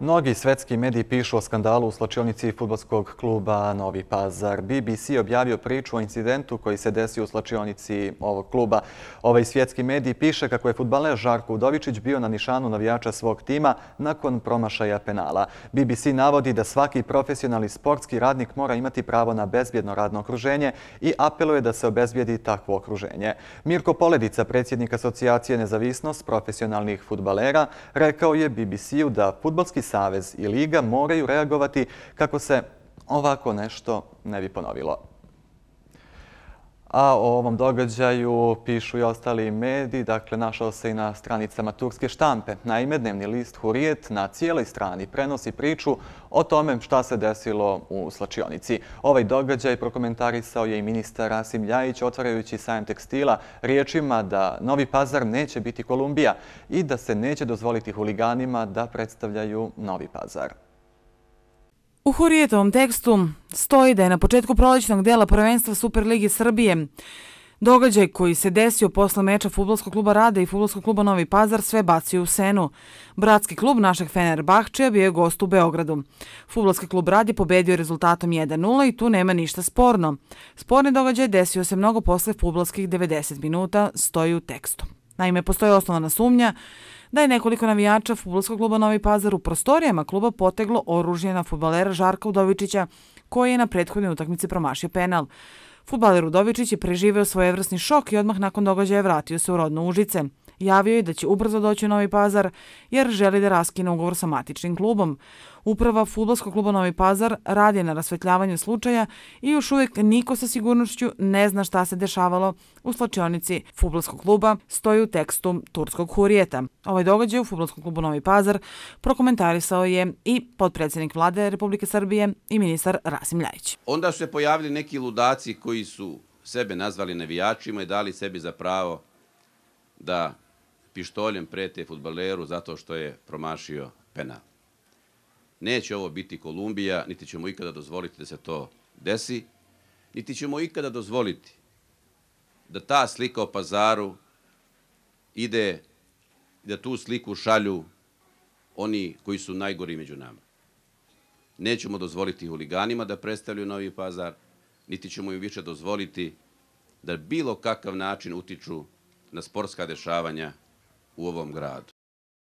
Mnogi svetski mediji pišu o skandalu u slačionici fudbalskog kluba Novi Pazar. BBC objavio priču o incidentu koji se desio u slačionici ovog kluba. Ovaj svjetski medij piše kako je fudbaler Žarko Udovičić bio na nišanu navijača svog tima nakon promašaja penala. BBC navodi da svaki profesionalni sportski radnik mora imati pravo na bezbjedno radno okruženje i apeluje da se obezbijedi takvo okruženje. Mirko Poledica, predsjednik Asocijacije Nezavisnost profesionalnih fudbalera, rekao je BBC-u da Fudbalski savez i liga moraju reagovati kako se ovako nešto ne bi ponovilo. A o ovom događaju pišu i ostali mediji, dakle našao se i na stranicama turske štampe. Naime, dnevni list Hurijet na cijeloj strani prenosi priču o tome šta se desilo u slačionici. Ovaj događaj prokomentarisao je i ministar Rasim Ljajić otvarajući sajam tekstila riječima da Novi Pazar neće biti Kolumbija i da se neće dozvoliti huliganima da predstavljaju Novi Pazar. U Hurijetovom tekstu stoji da je na početku prolećnog dela prvenstva Superligi Srbije događaj koji se desio posle meča Fudbalskog kluba Rada i Fudbalskog kluba Novi Pazar sve bacio u senu. Bratski klub našeg Fenerbahčeja bio je gost u Beogradu. Fudbalski klub Rad je pobedio rezultatom 1:0 i tu nema ništa sporno. Sporni događaj desio se mnogo posle fudbalskih 90 minuta, stoji u tekstu. Naime, postoji osnovana sumnja da je nekoliko navijača Fudbalskog kluba Novi Pazar u prostorijama kluba poteglo oružje na fudbalera Žarka Udovičića, koji je na prethodnoj utakmici promašio penal. Fudbaler Udovičić je preživeo svojevrsni šok i odmah nakon događaja vratio se u rodno Užice. Javio je da će ubrzo doći u Novi Pazar jer želi da raskine ugovor sa matičnim klubom. Uprava Fudbalskog kluba Novi Pazar radi na rasvetljavanju slučaja i još uvijek niko sa sigurnošću ne zna šta se dešavalo u slačionici Fudbalskog kluba, stoji u tekstu turskog Hurijeta. Ovaj događaj u Fudbalskom klubu Novi Pazar prokomentarisao je i potpredsjednik Vlade Republike Srbije i ministar Rasim Ljajić. Onda su se pojavili neki ludaci koji su sebe nazvali navijačima i dali sebi za pravo da pištoljem prete fudbaleru zato što je promašio penal. Neće ovo biti Kolumbija, niti ćemo ikada dozvoliti da se to desi, niti ćemo ikada dozvoliti da ta slika o Pazaru ide, da tu sliku šalju oni koji su najgori među nama. Nećemo dozvoliti huliganima da predstavljaju Novi Pazar, niti ćemo im više dozvoliti da bilo kakav način utiču na sportska dešavanja u ovom gradu.